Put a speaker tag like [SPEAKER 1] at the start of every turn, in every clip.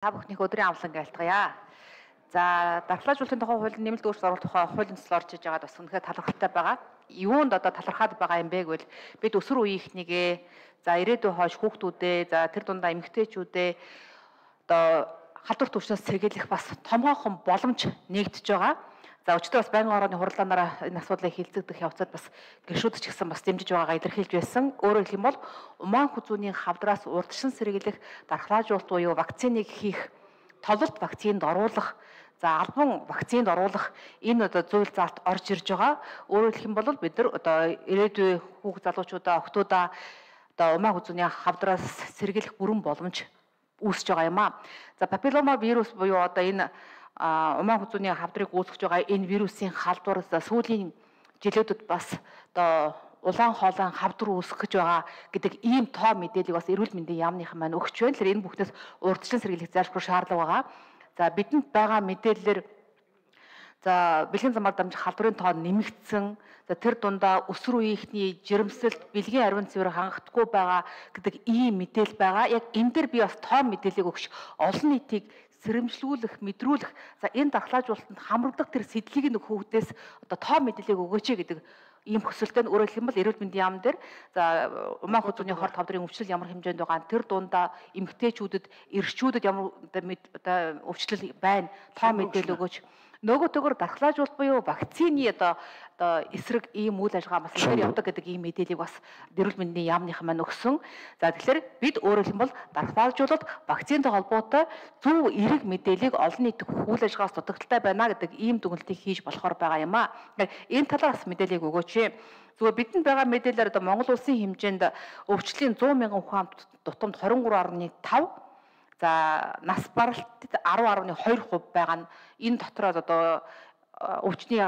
[SPEAKER 1] Та бүхнийг өдрийн амлан айлтгая. За, дархлаажуулалтын тухай хуулийн нэмэлт өөрчлөлт оруулах тухай хуулийн төсөл орж иж байгаад бас үнэхээр талархалтай байгаа. Юунд одоо талархаад байгаа юм бэ гэвэл бид өсвөр үеийнхнийгээ за ирээдүйн хойш хүүхдүүдээ за тэр дундаа эмэгтэйчүүдээ одоо халдвар түвшнээс сэргийлэх бас томоохон боломж нэгдэж байгаа. За өчигдөр бас байнгын орооны хурлаанаараа энэ асуудлыг хилцэгдэх явцад бас гишүүд ч гэсэн бас дэмжиж байгаагаа илэрхийлж байсан. Өөрөөр хэлэх юм бол умаан хүзүүний хавдраас урдчилан сэргийлэх дархлаажуулалт буюу вакциныг хийх, товлолт вакцинд оруулах, за албан вакцинд оруулах энэ одоо зүйл заалт орж ирж байгаа. Өөрөөр хэлэх юм бол бид нар одоо ирээдүйн хүүхд залуучуудаа, охтуудаа одоо умаан хүзүүний хавдраас сэргийлэх бүрэн боломж үүсэж байгаа юм аа. За папиллома вирус буюу одоо энэ умаан хүзүүний хавдрыг үүсгэж байгаа энэ вирусын халдвар сүүлийн жилүүдэд бас одоо улаан хоолойн хавдар үүсгэж байгаа гэдэг ийм тоо мэдээллийг бас эрүүл мэндийн яамныхан маань өгч байна. Тэгэхээр энэ бүхнээс урьдчилан сэргийлэх зайлшгүй шаардлага байгаа. За бидэнд байгаа мэдээллээр за бэлгийн замаар дамжих халдварын тоо нэмэгдсэн. За тэр дундаа өсвөр үеийнхний жирэмсэлт, бэлгийн ариун цэвэр хангахдаггүй байгаа гэдэг ийм мэдээлэл байгаа. Яг энэ дээр би бас тоо мэдээллийг өгч олон нийтийг сэрэмжлүүлэх, мэдрүүлэх, за энэ дархлаажуулалтанд хамрагдах тэр сэдлийг нэг хүүхдээс одоо тоо мэдээллийг өгөөч гэдэг ийм хүсэлтэй нь. Өөрөөр хэлбэл эрүүл мэндийн яам дээр за умаан хүзүүний хорт хавдрын өвчлөл ямар хэмжээнд байгаа тэр дундаа эмэгтэйчүүдэд, эрчүүдэд ямар одоо өвчлөл байна, тоо мэдээлэл өгөөч. Нөгөө төгөр дархлаажуулалт буюу вакцины одоо эсрэг ийм үйл ажиллагаа бас ихээр явдаг гэдэг ийм мэдээллийг бас эрүүл мэндийн яамныхан маань өгсөн. За тэгэхээр бид өөрөөр хэлбэл дархлаажуулалт вакцинтай холбоотой зөв эерэг мэдээллийг олон нийтэд үйл ажиллагаас дутагдaltaй байна гэдэг ийм дүгнэлтийг хийж болохоор байгаа юм аа. Энэ талаас мэдээллийг өгөөч. Зүгээр бидэнд байгаа мэдээлэлээр одоо Монгол улсын хэмжээнд өвчлөлийн 100 мянган хүн амт тутамд 23.5 за нас баралтад 10.2% байгаа нь энэ дотроос одоо өвчний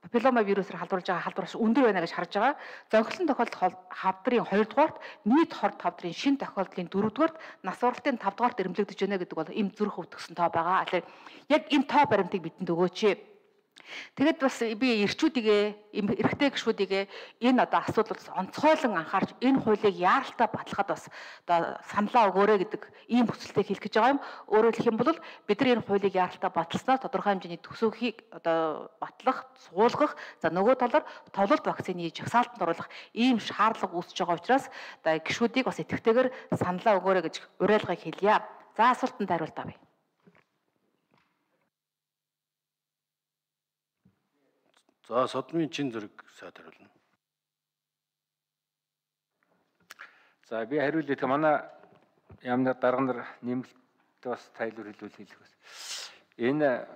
[SPEAKER 1] папиллома вирусээр халдварлаж байгаа халдвараас өндөр байна гэж харж байгаа. Зохилон тохиолдол хавдрын 2 дугаарт, нийт хорт хавдрын шинэ тохиолдлын 4 дугаарт, нас баралтын 5 дугаарт эрэмлэгдэж байна гэдэг бол эм зүрх өвдгсөн тоо байгаа. Тэгэхээр яг энэ тоо баримтыг бидэнд өгөөч. Тэгэд бас би эрчүүдийгээ, эрэгтэй гишүүдийгээ энэ одоо асуудлаас онцгойлон анхаарч энэ хуулийг яаралтай баталгаад бас одоо саналаа өгөөрэй гэдэг ийм хүсэлтийг хэлэх гэж байгаа юм. Өөрөөр хэлэх юм бол бид нар энэ хуулийг яаралтай баталснаар тодорхой хэмжээний төсөвхийг одоо батлах, суулгах, за нөгөө талаар товлолт вакцины жагсаалтанд оруулах ийм шаардлага үүсэж байгаа учраас одоо гишүүдийг бас идэвхтэйгээр саналаа өгөөрэй гэж уриалгыг хэлье. За асуултанд хариулт авъя.
[SPEAKER 2] За содмын чин зэрэг сайд хариулна.
[SPEAKER 3] За би хариулъя. Тэгээ манай яамны дарга нар нэмэлт бас тайлбар хэлүүлэх бас. Энэ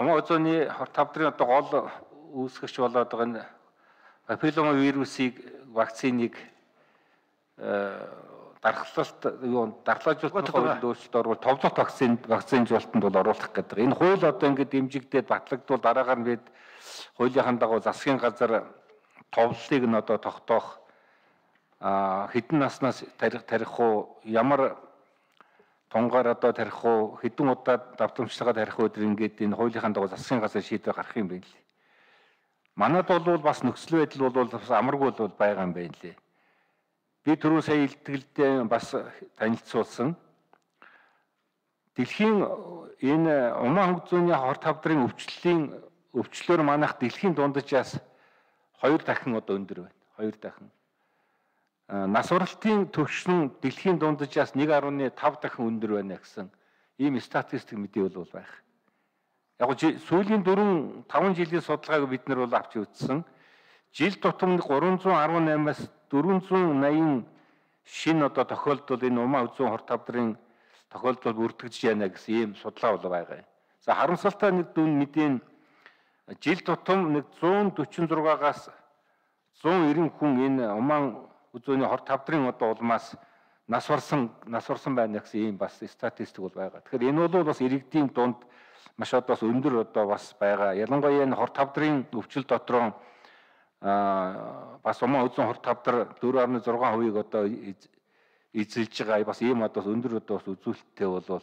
[SPEAKER 3] умаан хүзүүний хорт хавдрын одоо гол үүсгэгч болоод байгаа энэ папиллома вирусыг вакциныг дархлаажуулалтын хуулинд өөрчлөлт оруулах товлолт вакцинжуулалтанд бол оруулах гэдэг. Энэ хууль одоо ингээд дэмжигдээд батлагдвал дараагаар нь бид хуулийнхаа дагуу засгийн газар товлолтыг нь одоо тогтоох хэдэн наснаас тарих уу, ямар тунгаар одоо тарих уу, хэдэн удаа давтамжлагаа тарих уу гэдэг ингээд энэ хуулийнхаа дагуу засгийн газар шийдвэр гаргах юм байна лээ. Манайд бол бас нөхцөл байдал бол бас амаргүй бол байгаа юм байна лээ. Би түрүү сая илтгэлдээ бас танилцуулсан. Дэлхийн энэ умаан хүзүүний хорт хавдрын өвчлөөр манайх дэлхийн дунджаас 2 дахин одоо өндөр байна. 2 дахин. Нас баралтын түвшин дэлхийн дунджаас 1.5 дахин өндөр байна гэсэн ийм статистик мэдээ бол байх. Яг нь сүүлийн 4-5 жилийн судалгааг бид нар бол авч үзсэн. Жил тутам 318-аас 480 шинэ одоо тохиолдол энэ умаан хүзүүн хорт хавдрын тохиолдол бүртгэж яана гэсэн ийм судалгаа бол байгаа. За харамсалтай нэг дүн мэдээ жил тутам 146-аас 190 хүн энэ умаан хүзүүний хорт хавдрын одоо улмаас нас барсан байна гэсэн ийм бас статистик бол байгаа. Тэгэхээр энэ бол бас иргэдийн дунд маш одоо өндөр одоо бас байгаа. Ялангуяа энэ хорт хавдрын өвчл дотроо бас умаан хүзүүн хорт хавдар 4.6% одоо эзэлж байгаа бас ийм одоо өндөр одоо бас үзүүлэлттэй бол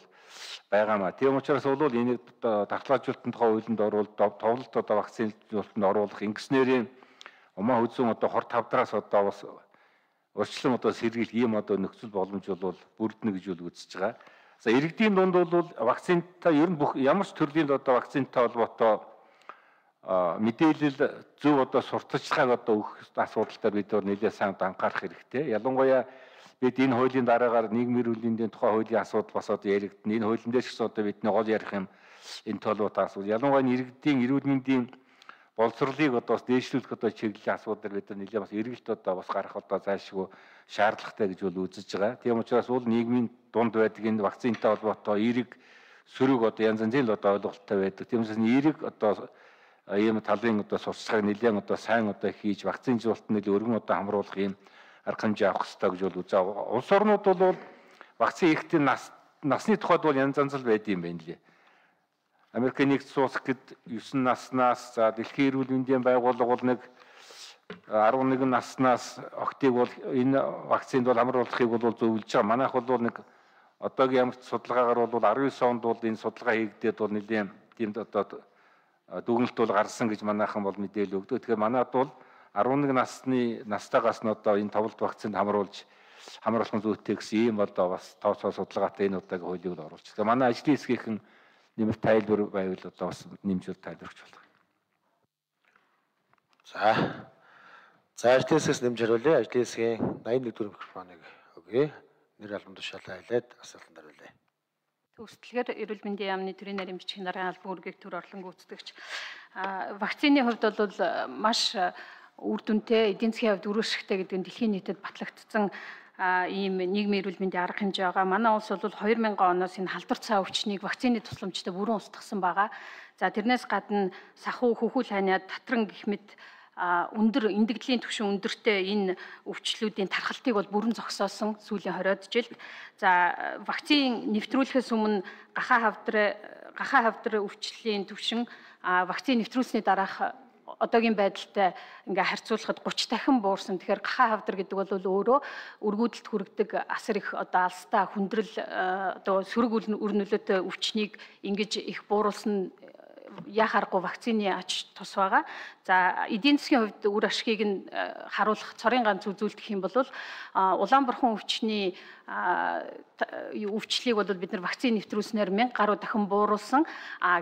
[SPEAKER 3] байгаа маа. Тийм учраас бол энийг дархлаажуулалтын тухай хуулинд оруулалт, товлолт одоо вакцинжуулалтанд оруулах ингэснээр умаан хүзүүн одоо хорт хавдраас одоо бас урьдчилан одоо сэргийлэх ийм одоо нөхцөл боломж бол бүрднэ гэж үзэж байгаа. За иргэдийн дунд бол вакцинтай ер нь бүх ямар ч төрлийн одоо вакцинтай холбоотой мэдээлэл зөв одоо сурталчилгааг одоо өгөх асуудал дээр бид нэлээд сайн анхаарах хэрэгтэй. Ялангуяа бид энэ хуулийн дараагаар нийгмийн эрүүл мэндийн тухай хуулийн асуудал бас одоо яригдана. Энэ хуулийн дээр ч гэсэн одоо бидний гол ярих юм энэ толгойтой асуудал. Ялангуяа иргэдийн эрүүл мэндийн боловсролыг одоо бас дээшлүүлэх одоо чиглэлийн асуудал бид нэлээд бас эргэлт одоо бас гарах одоо зайлшгүй шаардлагатай гэж бол үзэж байгаа. Тийм учраас бол нийгмийн дунд байдаг энэ вакцинтай холбоотой эерэг сөрөг одоо янз янзын л одоо ойлголттой байдаг. Тийм учраас эерэг одоо ийм талын одоо сурчлагыг нэлээд одоо сайн одоо хийж вакцинжуулалт нь өргөн одоо хамруулах ийм арга хэмжээ авах хэрэгтэй гэж бол үзээ. Улс орнууд бол вакцин хийхдээ насны тухайд бол янз янз л байд юм байна лээ. Америкийн нэгдсэн улс гэд 9 наснаас за дэлхийн эрүүл мэндийн байгууллага бол нэг 11 наснаас октыг бол энэ вакцинд бол хамруулахыг бол зөвлөж байгаа. Манайх бол нэг одоогийн ямар ч судалгаагаар бол 19 онд бол энэ судалгаа хийгдээд бол нэлийн тиймд одоо дүгнэлт бол гарсан гэж манайхан бол мэдээлэл өгдөг. Тэгэхээр манайд бол 11 настайгаас нь одоо энэ товлт вакцинд хамруулах нь зүйтэй гэсэн ийм одоо бас тооцоо судалгаатай энэ удаагийн хуулийг л оруулж. Тэгэхээр манай ажлын хэсгийнхэн нэмэлт тайлбар байвал одоо бас нэмжүүл тайлбарч болох.
[SPEAKER 4] За ажлын хэсгээс нэмж хариулъя. Ажлын хэсгийн 81 дөрөв микрофоныг өгье. Нэр албан тушаалаа хэлээд асуултанд хариулъя.
[SPEAKER 5] Төгсдөлгөр эрүүл мэндийн яамны төрийн нарийн бичгийн даргын албан үүргийг төр орлон гүйцэтгэгч вакцины хувьд бол маш үр дүнтэй, эдийн засгийн хувьд өрөөсгтэй гэдэг нь дэлхийн нийтэд батлагдсан ийм нийгмийн эрүүл мэндийн арга хэмжээ байгаа. Манай улс бол 2000 оноос энэ халдвар цаа өвчнийг вакцины тусламжтай бүрэн устгасан байгаа. За тэрнээс гадна сахуу, хөхүүл ханиад, татран гэх мэт өндөр эндэгдлийн түвшин өндөртэй энэ өвчлүүдийн тархалтыг бол бүрэн зогсоосон сүүлийн 20-од жилд. За вакцин нэвтрүүлэхээс өмнө гахаа хавдар өвчлөлийн түвшин вакцин нэвтрүүлсний дараах одоогийн байдалтай ингээ харьцуулахад 30 дахин буурсан. Тэгэхээр гахаа хавдар гэдэг бол өөрөө өргүүдэлд хүргэдэг асар их одоо алстай хүндрэл одоо сөрөг үр нөлөөтэй өвчнийг ингэж их бууруулсан яхааргүй вакцины ач тус байгаа. За эдийн засгийн хувьд үр ашгийг нь харуулах цорын ганц үзүүлэлт гэх юм бол Улаанбархан өвчний өвчлийг бол бид нар вакцины нэвтрүүлснээр 1000 гаруй дахин бууруулсан.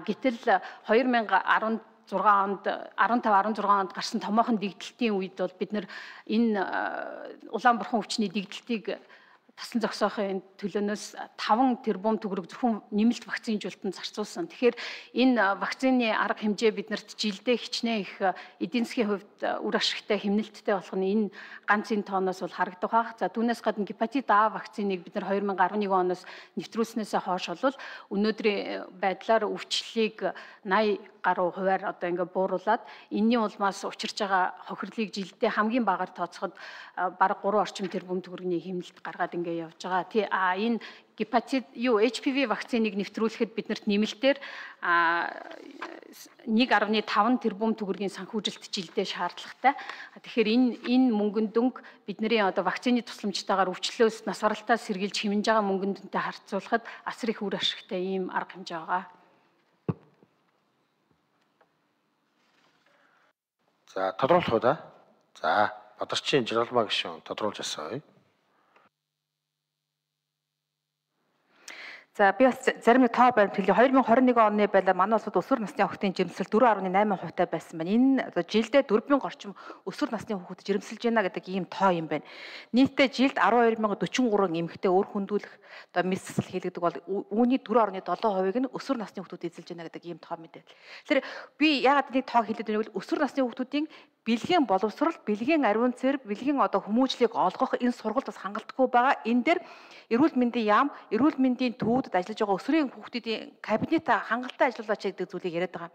[SPEAKER 5] Гэтэл 2016 онд 15-16 онд гарсан томоохон дэгдэлтийн үед бол бид нар энэ Улаанбархан өвчний дэгдэлтийг тасан зогсоохын төлөөнөөс 5 тэрбум төгрөг зөвхөн нэмэлт вакцинжуулалтанд зарцуулсан. Тэгэхээр энэ вакцины арга хэмжээ биднэрт жилдээ хичнээн их эдийн засгийн хувьд үр ашигтай хэмнэлттэй болох нь энэ ганц энэ тооноос бол харагдах баг. За түүнээс гадна гепатит А вакциныг бид нар 2011 оноос нэвтрүүлснээсээ хойш бол өнөөдрийн байдлаар өвчлөлийг 80 гаруй хувиар одоо ингээ бууруулад энэний улмаас учирч байгаа хохирлыг жилдээ хамгийн багаар тооцоход бараг 3 орчим тэрбум төгрөгийн хэмнэлт гаргаад ингээ явж байгаа. Энэ гепатит HPV вакциныг нэвтрүүлэхэд биднэрт нэмэлтээр 1.5 тэрбум төгрөгийн санхүүжилт жилдээ шаардлагатай. Тэгэхээр энэ мөнгөн дүнг бидний одоо вакцины тусламжтайгаар өвчлөлөөс нас баралтаа сэргийлж хэмнэж байгаа мөнгөн дүнтэй харьцуулахад асар их үр ашигтай ийм арга хэмжээ байгаа.
[SPEAKER 4] За тодруулах уу да? За Бадарчин Жиргалмаа гишүүн тодруулж асууя.
[SPEAKER 1] За би бас зарим нэг тоо баримт хэлье. 2021 оны байлаа манай улсад өсвөр насны хүүхдийн жирэмсэл 4.8% байсан байна. Энэ одоо жилдээ 4,000 орчим өсвөр насны хүүхэд жирэмсэлж байна гэдэг ийм тоо юм байна. Нийтдээ жилд 12,043 эмэгтэй өөр хүндүүлэх одоо мэс засал хийлгдэг бол үүний 4.7%-ыг нь өсвөр насны хүүхдүүд эзэлж байна гэдэг ийм тоо мэдээ. Тэгэхээр би яагаад нэг тоо хэлээд байв бол өсвөр насны хүүхдүүдийн бэлгийн боловсрол, бэлгийн ариун цэвэр, бэлгийн одоо хүмүүжлийг олгох энэ сургалт бас хангалтгүй байгаа. Энэ дээр эрүүл мэндийн яам, эрүүл мэндийн төвүүдэд ажиллаж байгаа өсвөрийн хүүхдүүдийн кабинет хангалттай ажиллуулаач гэдэг зүйлийг яриад байгаа.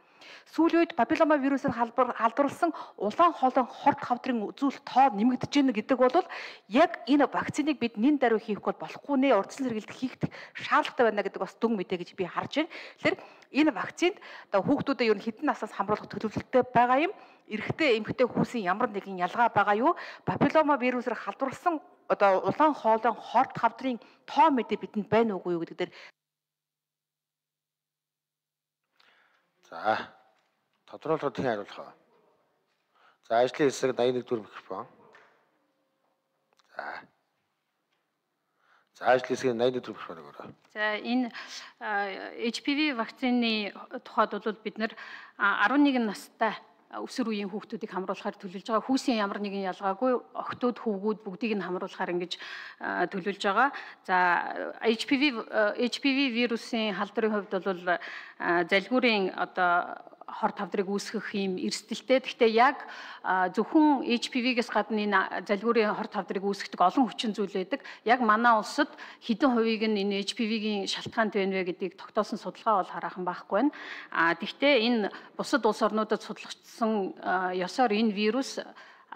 [SPEAKER 1] Сүүлийн үед папиллома вирусыг халдварласан улаан хоолой хорт хавдрын үзүүлэлт тоо нэмэгдэж байна гэдэг бол яг энэ вакциныг бид нэн даруй хийх бол болохгүй нэ урдсан сэргийлт хийх шаардлагатай байна гэдэг бас дүн мэдээ гэж би харж байна. Тэгэхээр энэ вакцинд одоо хүүхдүүдэд ер нь хэдэн наснаас хамруулах төлөвлөлттэй байгаа юм. Эрэгтэй эмэгтэй хүүсийн ямар нэгэн ялгаа байгаа юу? Папиллома вирусээр халдварласан одоо улаан хоолой хорт хавдрын тоо мэдээ бидэнд байна уугүй юу гэдэг дээр.
[SPEAKER 4] За тодруулахад хэн хариулах вэ? За ажлын хэсэг 81 дөрөв микрофон. За ажлын хэсгийн 80 өдрийн програм өгөөрэй.
[SPEAKER 5] За энэ HPV вакцины тухайд бол бид нэр 11 настай өсвөр үеийн хүүхдүүдийг хамруулахаар төлөвлөж байгаа. Хүүсийн ямар нэгэн ялгаагүй охтууд, хөвгүүд бүгдийг нь хамруулахаар ингэж төлөвлөж байгаа. За HPV вирусын халдварын хувьд бол залгуурын одоо хор тавдрыг үүсгэх юм эрсдэлтэй. Гэхдээ яг зөвхөн HPV-гээс гадна энэ залгуурын хор тавдрыг үүсгэх олон хүчин зүйл байдаг. Яг манай улсад хэдэн хувийг нь энэ HPV-гийн шалтгаанд байна вэ гэдгийг тогтоосон судалгаа бол хараахан байхгүй байна. Гэхдээ энэ бусад улс орнуудад судлагдсан ёсоор энэ вирус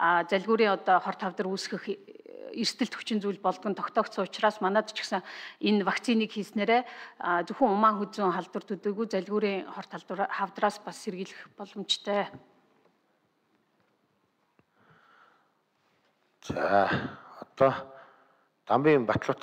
[SPEAKER 5] залгуурын одоо хор тавдар үүсгэх эрсдэлт хүчин зүйл болдгон тогтоогдсон учраас манад ч гэсэн энэ вакциныг хийснээрээ зөвхөн умаан хүзүүн халдвар төдийгүй залгуурын хор хавдраас бас сэргийлэх боломжтой.
[SPEAKER 4] За одоо Дамбын Батлуур